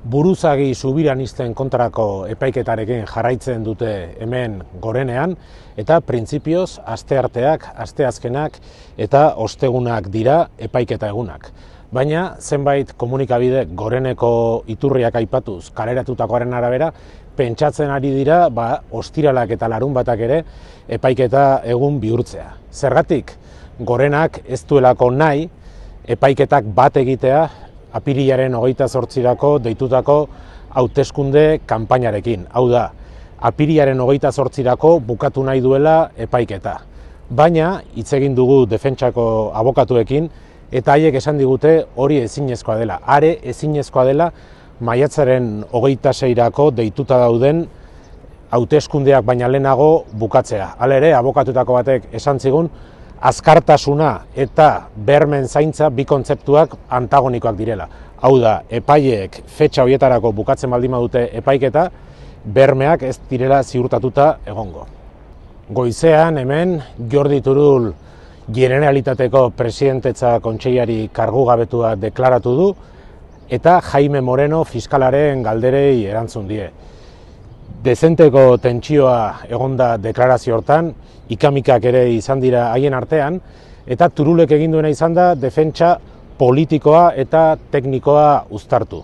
buruzagi subiranisten kontrako epaiketarekin jarraitzen dute hemen gorenean, eta printzipioz astearteak, asteazkenak eta ostegunak dira epaiketa egunak. Baina zenbait komunikabide goreneko iturriak aipatuz kaleratutakoaren arabera, pentsatzen ari dira ostiralak eta larunbatak ere epaiketa egun bihurtzea. Zergatik, gorenak ez duelako nahi epaiketak bat egitea apirilaren 28 deitutako hauteskunde kanpainarekin. Hau da, apirilaren 28 bukatu nahi duela epaiketa. Baina, hitz egin dugu defentsako abokatuekin, eta haiek esan digute hori ezinezkoa dela. Are ezinezkoa dela maiatzaren 26 deituta dauden hauteskundeak baina lehenago bukatzea. Hala ere, abokatutako batek esan zigun, azkartasuna eta bermen zaintza bi kontzeptuak antagonikoak direla. Hau da, epaileek fetxa horietarako bukatzen baldin badute epaiketa, bermeak ez direla ziurtatuta egongo. Goizean hemen Jordi Turull Generalitateko presidentetza kontseilari kargugabetua deklaratu du eta Jaime Moreno fiskalaren galderei erantzun die. Dezenteko tentsioa egonda deklarazio hortan, ikamikak ere izan dira haien artean, eta Turullek egin duena izan da defentsa politikoa eta teknikoa uztartu.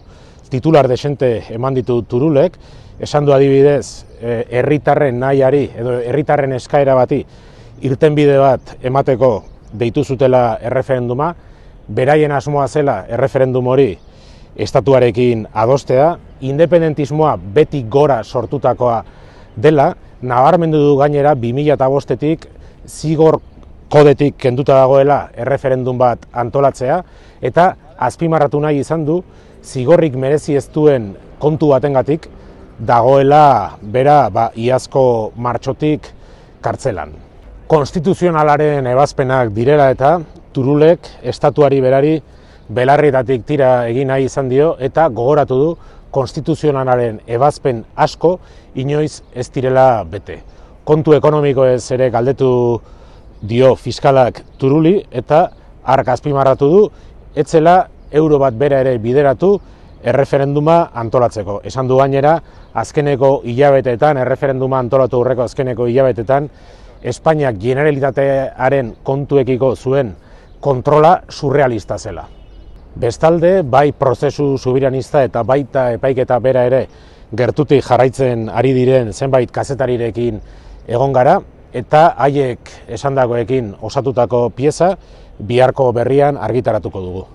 Titular desente eman ditu Turullek, esan du adibidez herritarren nahiari edo herritarren eskaera bati irtenbide bat emateko deitu zutela erreferenduma, beraien asmoa zela erreferendum hori estatuarekin adostea, independentismoa beti gora sortutakoa dela, nabarmendu du gainera 2005-etik zigor kodetik kenduta dagoela erreferendum bat antolatzea, eta azpimarratu nahi izan du zigorrik merezi ez duen kontu batengatik dagoela bera iazko martxotik kartzelan. Konstituzionalaren ebazpenak direla eta Turullek estatuari berari belarrietatik tira egin nahi izan dio eta gogoratu du konstituzionalaren ebazpen asko inoiz ez direla bete. Kontu ekonomikoez ere galdetu dio fiskalak Turulli eta hark azpimarratu du etzela euro bat bera ere bideratu erreferenduma antolatzeko. Esan du gainera, azkeneko hilabeteetan, erreferenduma antolatu aurreko azkeneko hilabeteetan, Espainiak Generalitatearen kontuekiko zuen kontrola surrealista zela. Bestalde, bai prozesu subiranista eta baita epaiketa bera ere gertutik jarraitzen ari diren zenbait kazetarirekin egon gara, eta haiek esandakoekin osatutako pieza biharko berrian argitaratuko dugu.